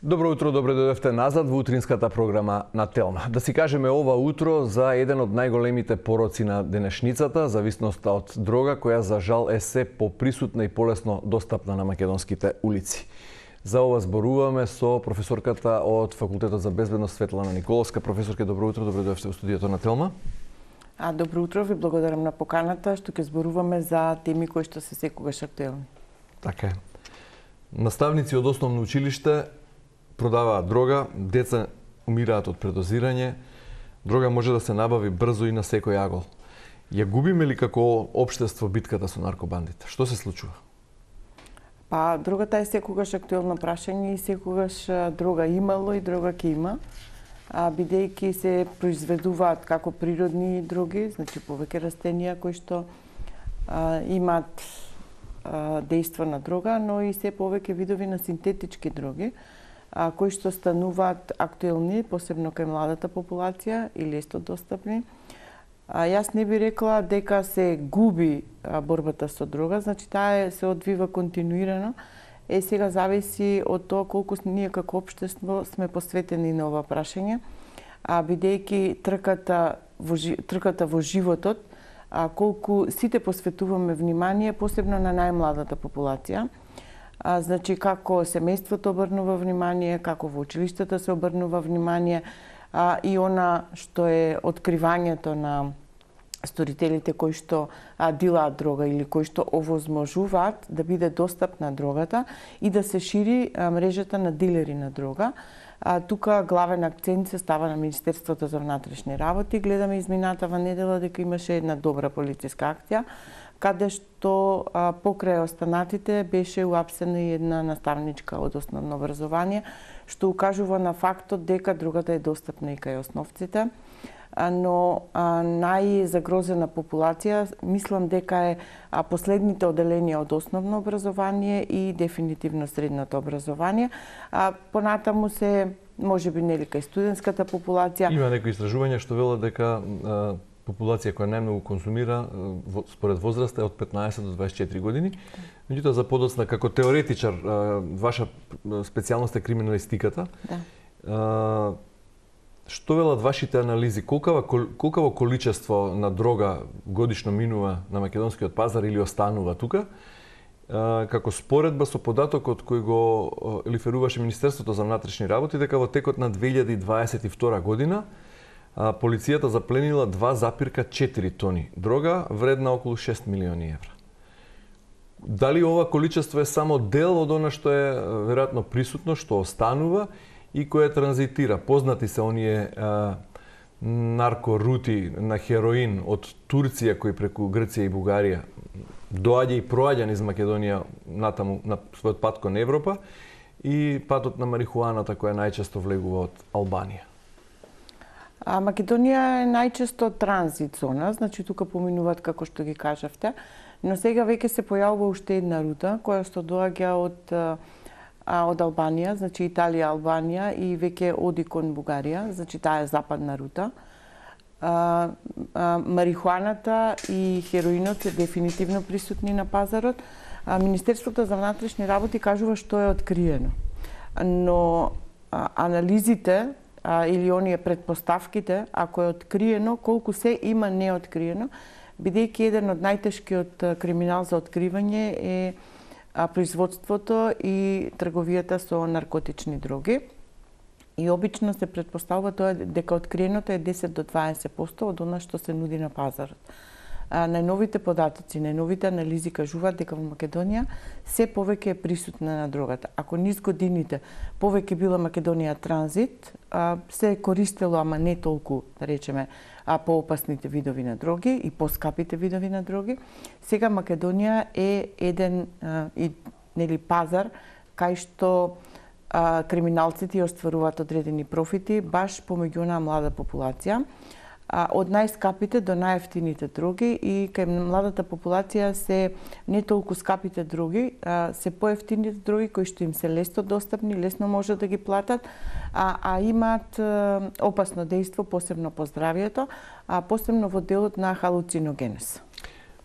Добро утро, добре дојдовте назад во утринската програма на Телма. Да си кажеме ова утро за еден од најголемите пороци на денешницата, зависноста од дрога, која за жал е се поприсутна и полесно достапна на македонските улици. За ова зборуваме со професорката од Факултетот за безбедност Светлана Николовска. Професорке, добро утро, добре дојдовте во студиото на Телма. Добро утро, ви благодарам на поканата, што ќе зборуваме за теми кои што се секогаш актуелни. Така е. Наставници од основно училиште продаваат дрога, деца умираат од предозирање, дрога може да се набави брзо и на секој агол. Ја губиме ли како општество битката со наркобандите? Што се случува? Дрогата е секогаш актуелно прашање и секогаш дрога имало и дрога ќе има, бидејќи се произведуваат како природни дроги, значи повеќе растенија кои што имаат дејство на дрога, но и се повеќе видови на синтетички дроги, кои што стануваат актуелни, посебно кај младата популација и лесно достапни. Јас не би рекла дека се губи борбата со дрога, значи таа се одвива континуирано. Сега зависи од тоа колку ние како општество сме посветени на ова прашање, бидејќи трката во животот, колку сите посветуваме внимание, посебно на најмладата популација. Значи, како семејството обрнува внимание, како во училиштата се обрнува внимание, и она што е откривањето на сторителите кои што дилаат дрога или кои што овозможуваат да биде достапна дрогата и да се шири мрежата на дилери на дрога. Тука главен акцент се става на Министерството за внатрешни работи. Гледаме изминатава недела дека имаше една добра полициска акција, каде што покрај останатите беше уапсена и една наставничка од основно образование, што укажува на фактот дека дрогата е достапна и кај основците, но најзагрозена популација мислам дека е последните оделенија од основно образование и дефинитивно средното образование. Понатаму се можеби нели кај студентската популација. Има некои истражувања што велат дека популација која најмногу консумира според возраста е од 15 до 24 години. Меѓутоа за подоцна како теоретичар, ваша специјалност е криминалистиката. Да. Што велат вашите анализи? Колкаво количество на дрога годишно минува на македонскиот пазар или останува тука? Како споредба со податокот кој го лиферуваше Министерството за внатрешни работи, дека во текот на 2022 година полицијата запленила 2,4 тони дрога, вредна околу 6 милиони евра. Дали ова количество е само дел од она што е веројатно присутно, што останува и кое транзитира? Познати се оние наркорути на хероин од Турција кои преку Грција и Бугарија доаѓа и проаѓа низ Македонија натаму на својот пат кон Европа, и патот на марихуаната која најчесто влегува од Албанија. Македонија е најчесто транзит зона, значи тука поминуваат како што ги кажавте, но сега веќе се појавува уште една рута која што доаѓа од Албанија, значи Италија, Албанија и веќе оди кон Бугарија, значи таа е западна рута. Марихуаната и хероинот се дефинитивно присутни на пазарот. Министерството за внатрешни работи кажува што е откриено, но анализите или оние предпоставките, ако е откриено, колку се има неоткриено, бидејќи еден од најтешкиот криминал за откривање е производството и трговијата со наркотични дроги. И обично се претпоставува тоа дека откриеното е 10 до 20% од она што се нуди на пазарот. Најновите податоци, најновите анализи кажуваат дека во Македонија се повеќе е присутна на дрогата. Ако низ годините повеќе била Македонија транзит, се е користело, ама не толку, да речеме, поопасните видови на дроги и поскапите видови на дроги. Сега Македонија е еден пазар кај што криминалците остваруваат одредени профити баш помеѓу онаа млада популација. Од најскапите до најефтините дроги, и кај младата популација се не толку скапите дроги, се поевтините дроги кои што им се лесно достапни, лесно може да ги платат, а имаат опасно дејство, посебно по здравието, посебно во делот на халуциногенез.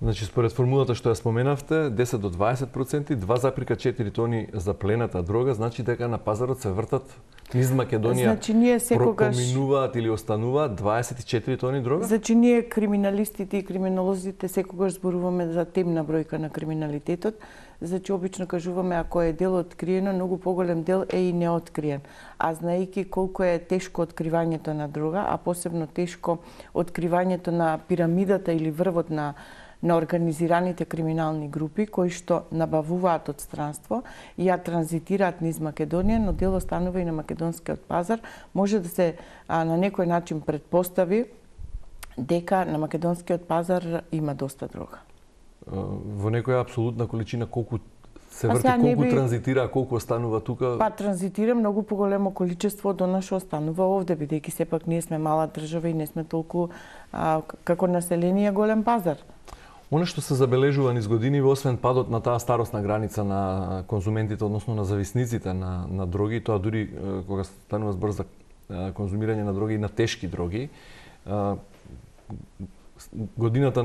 Значи, според формулата што ја споменавте, 10 до 20%, 2,4 тони заплената дрога, значи дека на пазарот се вртат низ Македонија, значи, ние секогаш поминуваат или остануваат 24 тони дрога? Значи, ние криминалистите и криминолозите секогаш зборуваме за темна бројка на криминалитетот. Значи, обично кажуваме, ако е дел откриено, многу поголем дел е и неоткриен. А знаејќи колку е тешко откривањето на дрога, а посебно тешко откривањето на пирамидата или врвот на организираните криминални групи кои што набавуваат од странство и ја транзитираат низ Македонија, но дел останува и на македонскиот пазар, може да се на некој начин предпостави дека на македонскиот пазар има доста дрога. Во некоја апсолутна количина колку се врти, колку транзитира, колку останува тука? Па транзитира многу поголемо количество од она што останува овде, бидејќи сепак ние сме мала држава и не сме толку како население голем пазар. Оно што се забележува низ години, освен падот на таа старосна граница на конзументите, односно на зависниците на дроги, тоа дури кога станува збор за конзумирање на дроги и на тешки дроги, годината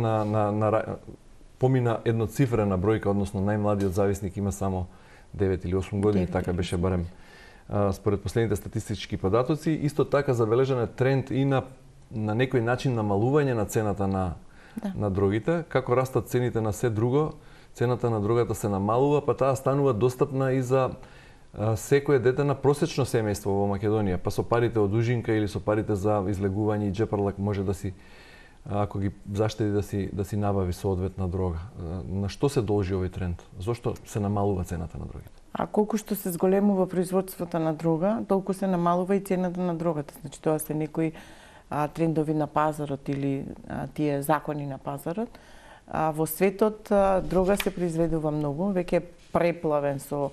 помина едноцифрена бројка, односно најмладиот зависник има само 9 или 8 години, така беше барем според последните статистички податоци. Исто така забележан е тренд и на некој начин намалување на цената на дрогите. Како растат цените на се друго, цената на дрогата се намалува, па таа станува достапна и за секое дете на просечно семејство во Македонија. Па со парите од ужинка или со парите за излегување и джепарлак може да си, ако ги заштеди, да си набави соодветна дрога. На што се должи овој тренд? Зошто се намалува цената на дрогите? А колку што се зголемува производството на дрога, толку се намалува и цената на дрогата. Значи тоа се некои трендови на пазарот или тие закони на пазарот. Во светот дрога се произведува многу, веќе е преплавен со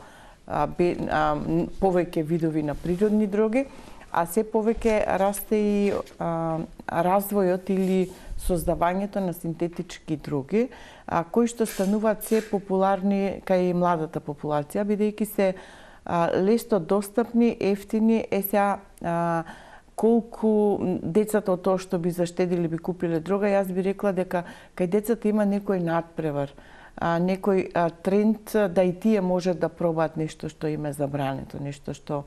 повеќе видови на природни дроги, а се повеќе расте и развојот или создавањето на синтетички дроги, кои што стануваат се популарни кај младата популација, бидејќи се лесно достапни, ефтини, сега колку децата од тоа што би заштедили би купиле дрога, јас би рекла дека кај децата има некој надпревар, некој тренд да и тие можат да пробаат нешто што им е забрането, нешто што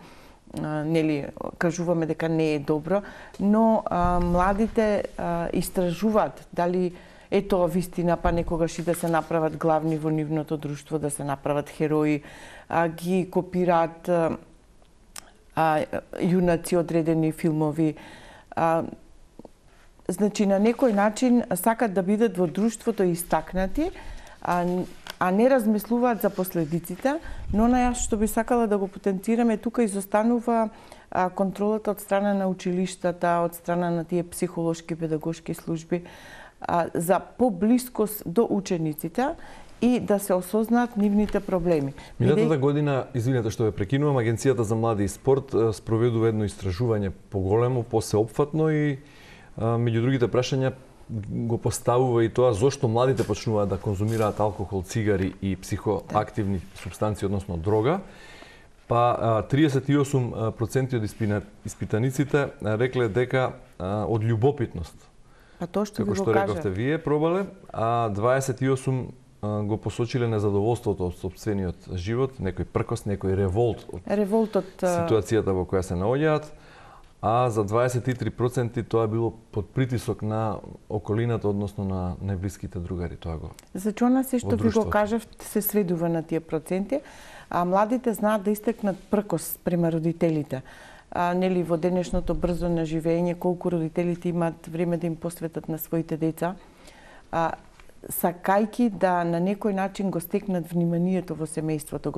нели кажуваме дека не е добро, но младите истражуваат дали е тоа вистина, па некогаш и да се направат главни во нивното друштво, да се направат херои, ги копираат јунаци одредени филмови. Значи, на некој начин сакат да бидат во друштвото истакнати, а не размислуваат за последиците, но на јас што би сакала да го потенцираме, тука изостанува контролата од страна на училиштата, од страна на тие психолошки, педагошки служби, за поблискост до учениците и да се осознаат нивните проблеми. Минатата година, извинете што ве прекинувам, Агенцијата за млади и спорт спроведува едно истражување поголемо, посеопфатно и меѓу другите прашања го поставува и тоа зошто младите почнуваат да конзумираат алкохол, цигари и психоактивни супстанции, односно дрога. Па 38% од испитаниците рекле дека од љубопитност. Па тоа што како што рековте вие пробале, а 28 го посочиле незадоволството од сопствениот живот, некој пркос, некој револт од ситуацијата во која се наоѓаат, а за 23% тоа било под притисок на околината, односно на најблиските другари. Тоа го. Значи, она се што ви го кажавте се сведува на тие проценти, а младите знаат да истекнат пркос према родителите. Нели во денешното брзо наживење, колку родителите имаат време да им посветат на своите деца, сакајки да на некој начин го стекнат вниманието во семејството,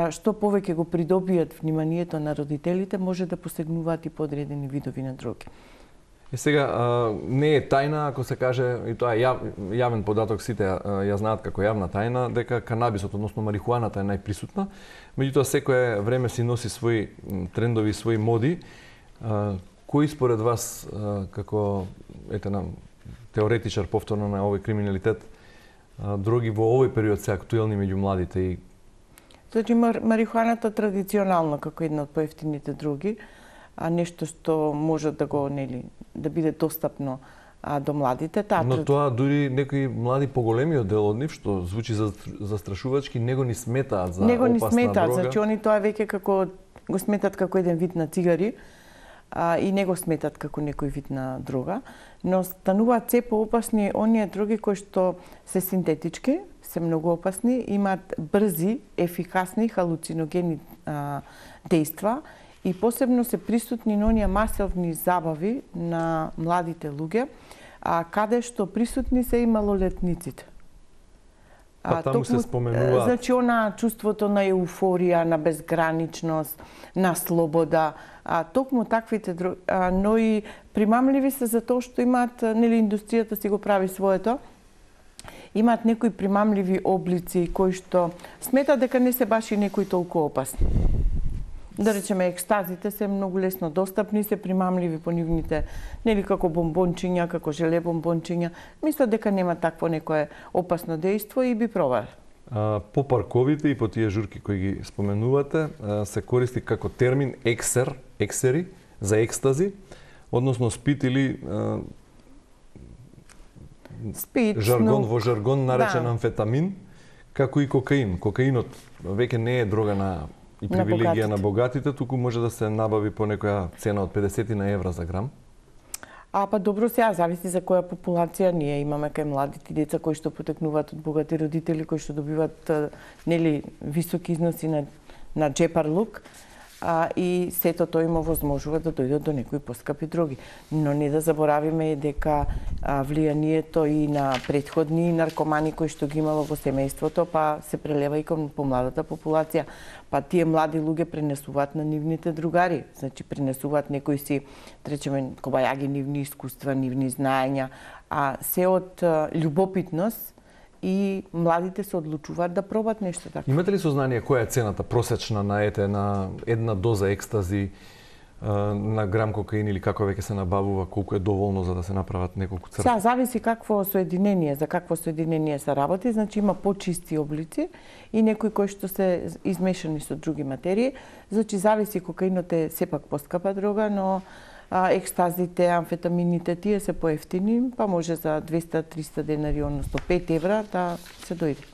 што повеќе го придобијат вниманието на родителите, може да посегнуваат и подредени видови на дроги. Сега, не е тајна, ако се каже, и тоа е јавен податок, сите ја знаат како јавна тајна, дека канабисот, односно марихуаната е најприсутна. Меѓутоа, секое време си носи своји трендови, своји моди. Кои според вас, како теоретичар повторно на овој криминалитет, дроги во овој период се актуелни меѓу младите и... Значи, марихуаната традиционално како една од поевтините дроги, нешто што може да го, да биде достапно до младите. Но тоа дури некои млади поголеми од дел од нив, што звучи застрашувачки, него ни сметаат за него опасна ни сметаат, дрога. значи они тоа веќе како го сметат како еден вид на цигари, и не го сметат како некој вид на дрога, но стануваат се поопасни оние дроги кои што се синтетички, се многу опасни, имаат брзи, ефикасни халуциногени дејства и посебно се присутни на оние масовни забави на младите луѓе, каде што присутни се и малолетниците. Па таму се споменуваат. Значи, она чувството на еуфорија, на безграничност, на слобода, токму таквите, но и примамливи се за тоа што имаат, нели, индустријата си го прави своето, имаат некои примамливи облици кои што сметат дека не се баш и некои толку опасни. Да речеме, екстазите се многу лесно достапни, се примамливи по нивните, нели, како бомбончиња, како желе бомбончиња. Мислат дека нема такво некое опасно дејство и би пробале. По парковите и по тие журки кои ги споменувате, се користи како термин ексери, за екстази, односно спит или во жаргон наречен амфетамин, како и кокаин. Кокаинот веќе не е дрога и привилегија на богатите, туку може да се набави по некоја цена од 50 евра за грам. Па добро, сега зависи за која популација. Ние имаме кај младите деца кои што потекнуваат од богати родители, кои што добиваат, нели, високи износи на джепарлук, и сето тоа им овозможува да дојдат до некои поскапи дроги. Но не да заборавиме дека влијанието и на претходни наркомани кои што ги имало во семејството, па се прелева и кон помладата популација. Па тие млади луѓе пренесуваат на нивните другари, значи пренесуваат некои си, речеме, кобајаги нивни искуства, нивни знаења, а се од љубопитност и младите се одлучуваат да пробат нешто така. Имате ли сознание која е цената просечна на една доза екстази, на грам кокаин или како веќе се набавува, колку е доволно за да се направат неколку црвки? Сега зависи какво соединение, за какво соединение се работи, значи има почисти облици и некои кои што се измешани со други материи, значи зависи, кокаинот е сепак поскапа дрога, но екстазите, амфетамините, тие се поевтини, па може за 200-300 денари, односно 5 евра да се дојде.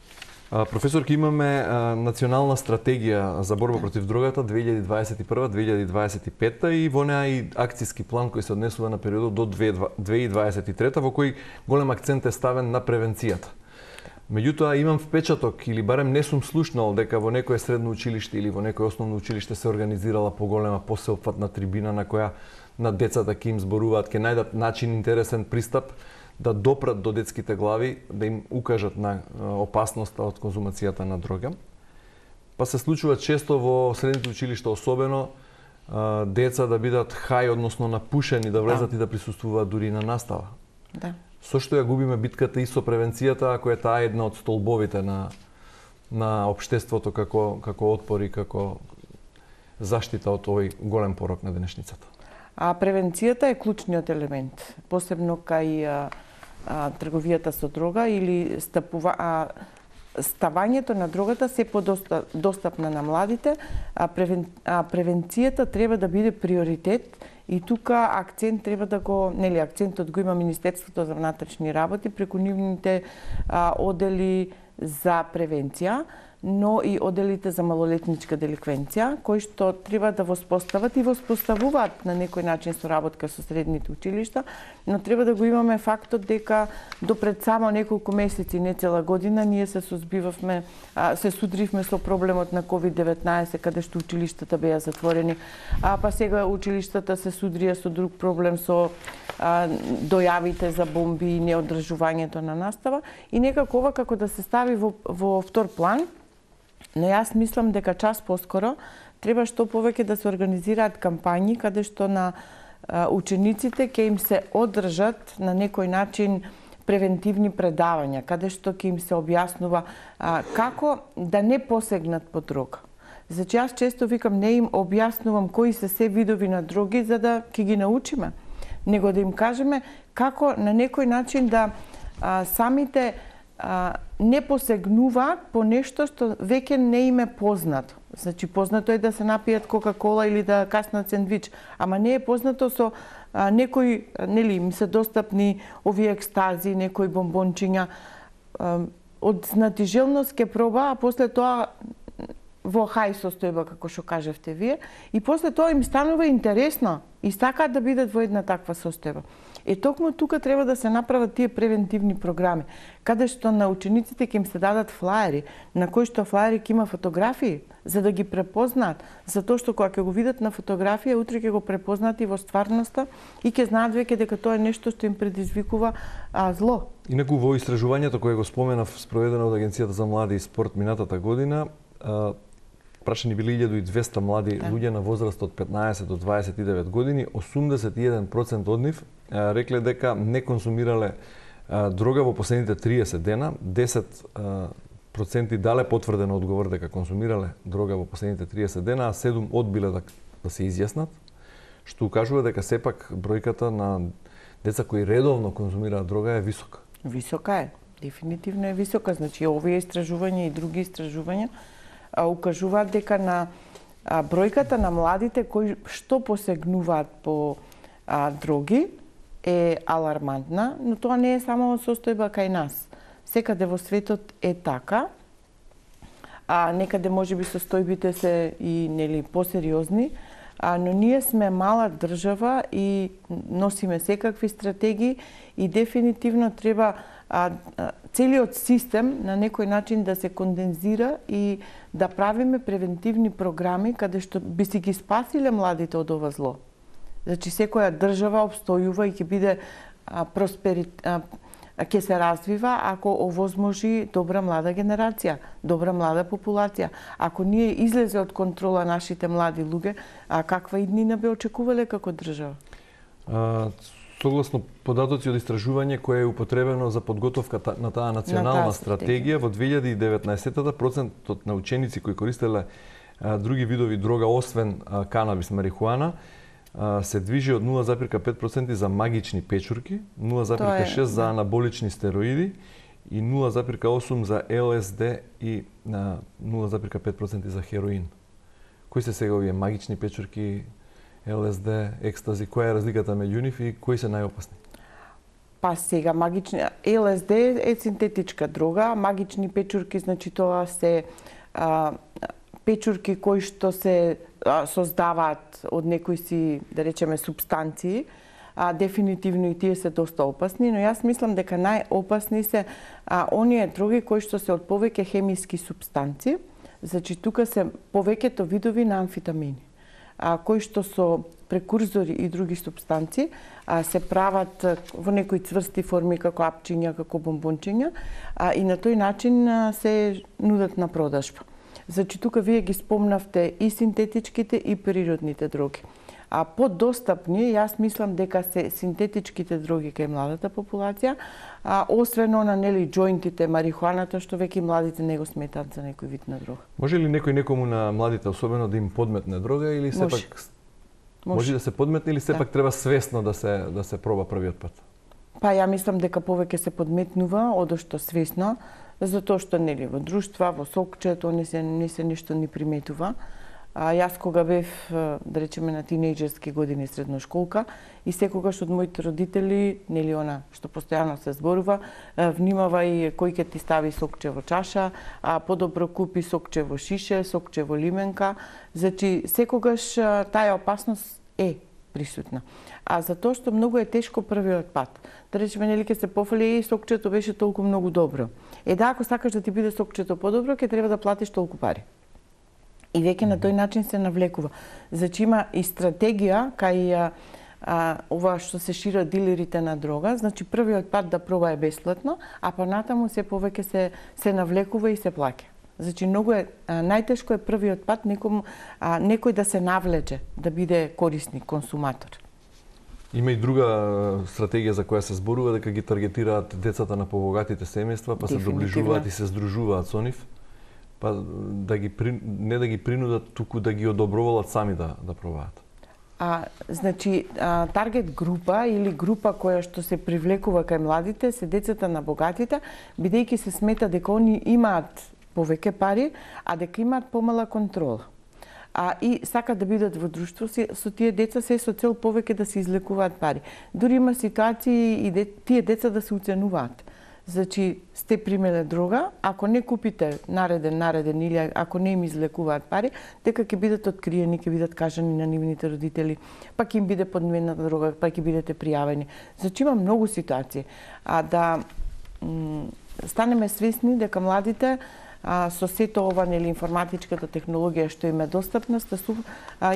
Професорки, имаме национална стратегија за борба против дрогата 2021-2025 и во неа и акцијски план кој се однесува на периодот до 2023 во кој голем акцент е ставен на превенцијата. Меѓутоа имам впечаток или барем не сум слушнал дека во некое средно училиште или во некое основно училиште се организирала поголема посеопфатна трибина на која на децата ќе им зборуваат, ќе најдат начин, интересен пристап да допрат до детските глави, да им укажат на опасноста од конзумацијата на дрога. Па се случува често во средните училишта, особено деца да бидат хај, односно напушени, да влезат и да присуствуваат дури на настава. Да. Со што ја губиме битката и со превенцијата, ако е таа една од столбовите на општеството како отпор и како заштита од овој голем порок на денешницата. Превенцијата е клучниот елемент, посебно кај трговијата со дрога или ставањето на дрогата се подостапна на младите, превенцијата треба да биде приоритет и тука акцент треба да го, нели, акцентот го има Министерството за внатрешни работи преку нивните одели за превенција, но и оделите за малолетничка деликвенција, кои што треба да воспостават и воспоставуваат на некој начин соработка со средните училишта, но треба да го имаме фактот дека допред само неколку месеци, не цела година, ние се судривме со проблемот на COVID-19, каде што училиштата беа затворени, па сега училиштата се судрија со друг проблем, со дојавите за бомби и неодржувањето на настава, и некако ова како да се стави во втор план. Но јас мислам дека час поскоро треба што повеќе да се организираат кампањи каде што на учениците ќе им се одржат на некој начин превентивни предавања, каде што ќе им се објаснува како да не посегнат по дрога. Значи, јас често викам, не им објаснувам кои се се видови на дроги за да ќе ги научиме, него да им кажеме како на некој начин да самите не посегнуваат по нешто што веќе не им е познато. Значи, познато е да се напијат Кока-кола или да каснат сендвич, ама не е познато со некои, нели, им се достапни овие екстази, некои бомбончиња. Од знатижелност ке проба, а после тоа во хај состојба, како што кажевте вие, и после тоа им станува интересно и сакаат да бидат во една таква состојба. Токму тука треба да се направат тие превентивни програми, каде што на учениците ќе им се дадат флаери, на кои што флаери ќе има фотографии, за да ги препознаат, затоа што кога ќе го видат на фотографија, утре ќе го препознаат и во стварноста и ќе знаат веќе дека тоа е нешто што им предизвикува зло. Инаку во истражувањето кое го споменав, спроведено од Агенцијата за млади и спорт минатата година, прашани били 1200 млади луѓе на возраст од 15 до 29 години, 81% од нив рекле дека не консумирале дрога во последните 30 дена, 10% дале потврдено одговор дека консумирале дрога во последните 30 дена, а 7 одбиле да се изјаснат, што укажува дека сепак бројката на деца кои редовно консумираат дрога е висока. Висока е, дефинитивно е висока. Значи, овие истражувања и други истражувања укажуваат дека на бројката на младите кои што посегнуваат по дроги е алармантна, но тоа не е само состојба кај нас. Секаде во светот е така, некаде можеби состојбите се и нели посериозни, но ние сме мала држава и носиме секакви стратегии и дефинитивно треба целиот систем на некој начин да се кондензира и да правиме превентивни програми каде што би си ги спасиле младите од ова зло. Значи, секоја држава обстојува и ќе биде ќе се развива ако овозможи добра млада генерација, добра млада популација. Ако ние излезе од контрола нашите млади луѓе, каква иднина бе очекувале како држава? Согласно податоци од истражување кое е употребено за подготовка на таа национална стратегија, во 2019 процентот на ученици кои користеле други видови дрога освен канабис, марихуана, се движи од 0,5% за магични печурки, 0,6% за анаболични стероиди и 0,8% за ЛСД и 0,5% за хероин. Кои се сега овие магични печурки, ЛСД, екстази, која е разликата меѓу нив и кои се најопасни? Па сега магични ЛСД е синтетичка дрога, магични печурки, значи тоа се печурки кои што се создаваат од некои си, да речеме, субстанции, дефинитивно и тие се доста опасни, но јас мислам дека најопасни се оние дроги кои што се од повеќе хемиски субстанции, значи тука се повеќето видови на амфетамини, кои што со прекурзори и други субстанции се прават во некои цврсти форми како апчиња, како бомбончиња и на тој начин се нудат на продажба. Значи, тука вие ги спомнавте и синтетичките и природните дроги. Подостапни, јас мислам дека се синтетичките дроги кај младата популација, освен на нели џоинтите, марихуаната, што веќе младите не го сметаат за некој вид на дрога. Може ли некој некому на младите особено да им подметне дрога или сепак може да се подметне или сепак треба свесно да се проба првиот пат? Па ја мислам дека повеќе се подметнува одошто свесно, затоа што нели во друштва, во сокче, тоа не се ништо ни приметува. Јас кога бев, да речеме, на тинејџерски години средношколка и секогаш од моите родители, нели она што постојано се зборува, внимавај кој ќе ти стави сокче во чаша, подобро купи сокче во шише, сокче во лименка. Значи, секогаш таа опасност е присутна. Затоа што многу е тешко првиот пат. Да речеме, нели ќе се пофали, сокчето беше толку многу добро. Ако сакаш да ти биде сокчето подобро, ќе треба да платиш толку пари. И веќе на тој начин се навлекува. Значи има и стратегија кај ова што се шират дилерите на дрога, значи првиот пат да проба е бесплатно, а понатаму се повеќе се навлекува и се плаќа. Значи многу е најтешко е првиот пат некој да се навлече, да биде корисник, консуматор. Има и друга стратегија за која се зборува дека ги таргетираат децата на побогатите семејства, па се доближуваат и се здружуваат со нив, па не да ги принудат, туку да ги одобровалат сами да пробаат. Значи, таргет група или група која што се привлекува кај младите се децата на богатите, бидејќи се смета дека они имаат повеќе пари, а дека имаат помала контрола. И сакат да бидат во друштво со тие деца се со цел повеќе да се излекуваат пари. Дури има ситуации и тие деца да се уценуваат. Значи, сте примеле дрога, ако не купите нареден или ако не им излекуваат пари, дека ќе бидат откриени, ќе бидат кажани на нивните родители, па ќе им биде подмената дрога, па ќе бидете пријавени. Значи, има многу ситуации. Да станеме свесни дека младите со сето ова, нели, информатичката технологија што им е достапна,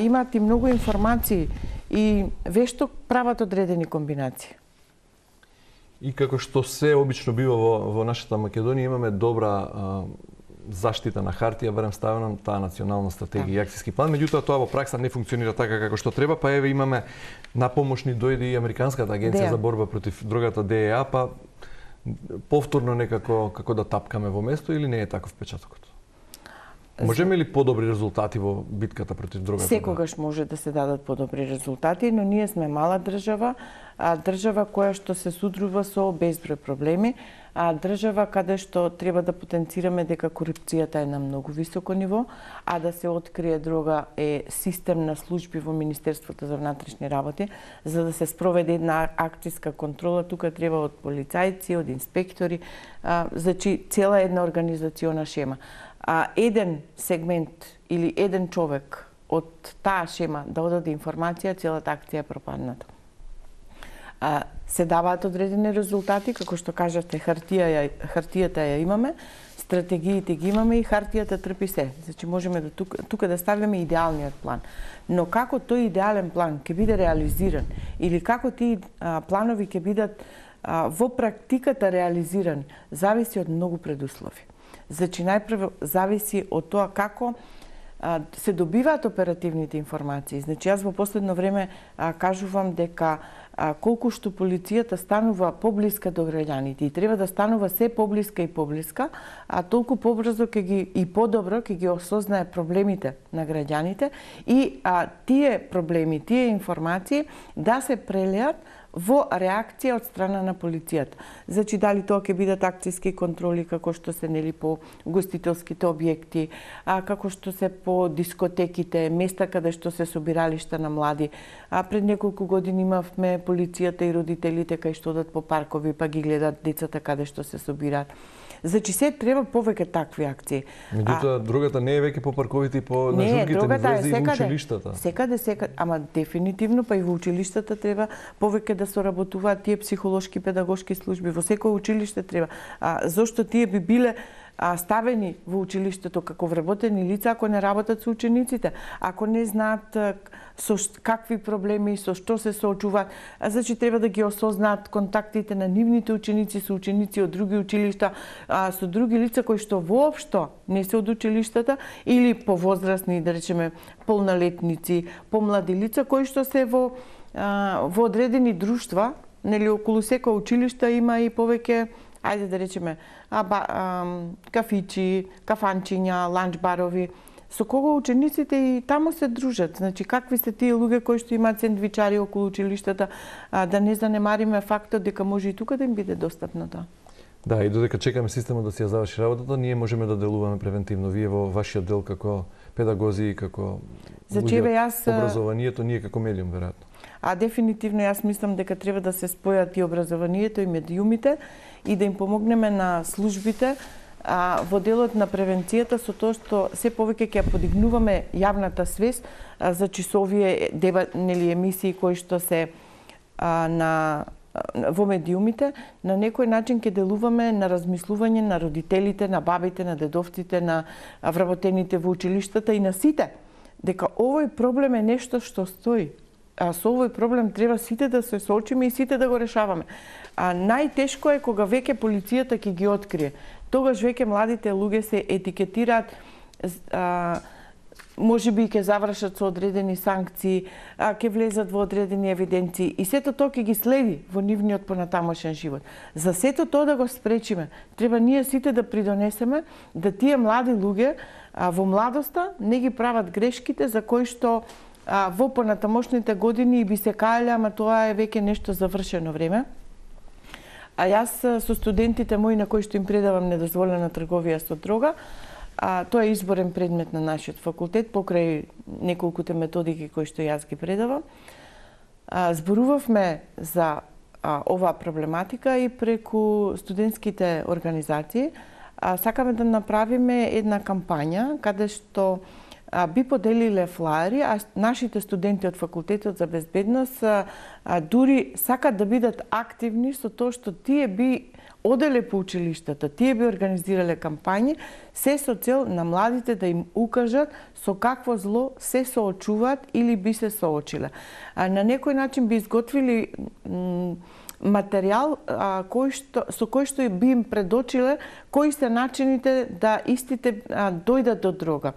имаат и многу информации и вешто прават одредени комбинации. И како што се обично бива во нашата Македонија, имаме добра заштита на хартија, барем ставено таа национална стратегија и акцијски план, меѓутоа тоа во пракса не функционира така како што треба, па еве имаме на помош ни дојде и Американската агенција за борба против дрогата ДЕА, па повторно некако како да тапкаме во место или не е таков впечатокот? Можеме ли подобри резултати во битката против дрогата? Секогаш може да се дадат подобри резултати, но ние сме мала држава, држава која што се судрува со безброј проблеми, држава каде што треба да потенцираме дека корупцијата е на многу високо ниво, а да се открие дрога е систем на служби во Министерството за внатрешни работи, за да се спроведе една акцијска контрола, тука треба од полицајци, од инспектори, значи цела една организациона шема. Еден сегмент или еден човек од таа шема да одаде информација, целата акција е пропадната. Се даваат одредени резултати, како што кажавте, хартијата ја имаме, стратегиите ги имаме и хартијата трпи се. Значи можеме да тука да ставиме идеалниот план. Но како тој идеален план ќе биде реализиран или како тие планови ќе бидат во практиката реализиран, зависи од многу предуслови. Значи, најпрво зависи од тоа како се добиваат оперативните информации. Значи, јас во последно време кажувам дека колку што полицијата станува поблиска до граѓаните и треба да станува се поблиска и поблиска, толку побрзо и подобро ќе ги осознае проблемите на граѓаните и тие проблеми, тие информации да се прелеат во реакција од страна на полицијата. Значи, дали тоа ќе бидат акцијски контроли, како што се, нели, по гостителските објекти, како што се по дискотеките, места каде што се собиралишта на млади. Пред неколку години имавме полицијата и родителите кај што одат по паркови, па ги гледат децата каде што се собираат. Значи, се треба повеќе такви акции. Меѓутоа, дрогата не е веќе по парковите и по на журките, не влезе и во училиштата. Секаде, ама дефинитивно, па и во училиштата треба повеќе да соработуваат тие психолошки, педагошки служби. Во секој училиште треба. Зошто тие би биле ставени во училиштето како вработени лица ако не работат со учениците, ако не знаат со какви проблеми, со што се соочуваат. Значи, треба да ги осознаат контактите на нивните ученици со ученици од други училишта, со други лица кои што воопшто не се од училиштата или повозрастни, да речеме, полнолетници, помлади лица кои што се во одредени друштва, нели, околу секој училиште има и повеќе, ајде да речеме, кафичи, кафанчиња, ланч барови, со кого учениците и таму се дружат. Значи, какви се тие луѓе кои што имаат сендвичари околу училиштата, да не занемариме фактот дека може и тука да им биде достапно тоа. Да, и додека чекаме системот да си ја заврши работата, ние можеме да делуваме превентивно. Вие во вашиот дел како педагози и како образованието, ние како медиум, веројатно. Дефинитивно јас мислам дека треба да се спојат и образованието и медиумите и да им помогнеме на службите во делот на превенцијата со тоа што се повеќе ќе подигнуваме јавната свест за часовие емисии кои што се во медиумите, на некој начин ќе делуваме на размислување на родителите, на бабите, на дедовците, на вработените во училиштата и на сите, дека овој проблем е нешто што стои. Со овој проблем треба сите да се соочиме и сите да го решаваме. Најтешко е кога веќе полицијата ќе ги открие. Тогаш веќе младите луѓе се етикетираат, можеби ќе завршат со одредени санкции, ќе влезат во одредени евиденции и сето тоа ќе ги следи во нивниот понатамошен живот. За сето тоа да го спречиме, треба ние сите да придонесеме да тие млади луѓе во младоста не ги прават грешките за кои што во понатамошните години би се каеле, ама тоа е веќе нешто завршено време. А јас со студентите мои на кои што им предавам недозволена трговија со дрога, тоа е изборен предмет на нашиот факултет покрај неколкуте методики кои што јас ги предавам. Зборувавме за оваа проблематика и преку студентските организации. Сакаме да направиме една кампања каде што би поделиле флаери, а нашите студенти од факултетот за безбедност дури сакат да бидат активни со тоа што тие би оделе по училиштата, тие би организирале кампањи, се со цел на младите да им укажат со какво зло се соочуваат или би се соочиле. На некој начин би изготвили материјал со кој што би им предочиле кои се начините да истите дојдат до дрога,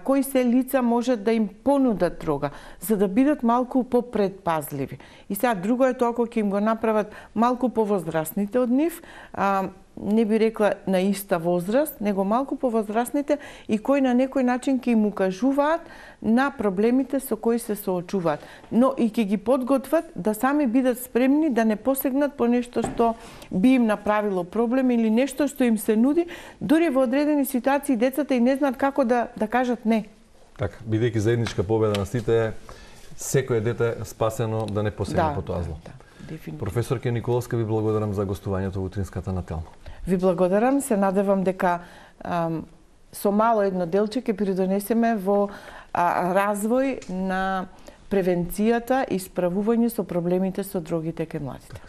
кои се лица можат да им понудат дрога, за да бидат малку попредпазливи. И сега друго е тоа кога ќе им го направат малку повозрастните од нив, не би рекла на иста возраст, него малку повозрастните и кои на некој начин ќе им укажуваат на проблемите со кои се соочуваат, но и ќе ги подготват да сами бидат спремни да не посегнат по нешто што би им направило проблем или нешто што им се нуди, дури во одредени ситуации децата и не знаат како да кажат не. Така, бидејќи заедничка победа на сите, секој дете спасено да не посегне по тоа зло. Професорке Николовска, ви благодарам за гостувањето во утринската на Телмо. Ви благодарам, се надевам дека со мало едно делче ќе придонесеме во развој на превенцијата и справување со проблемите со дрогите кај младите.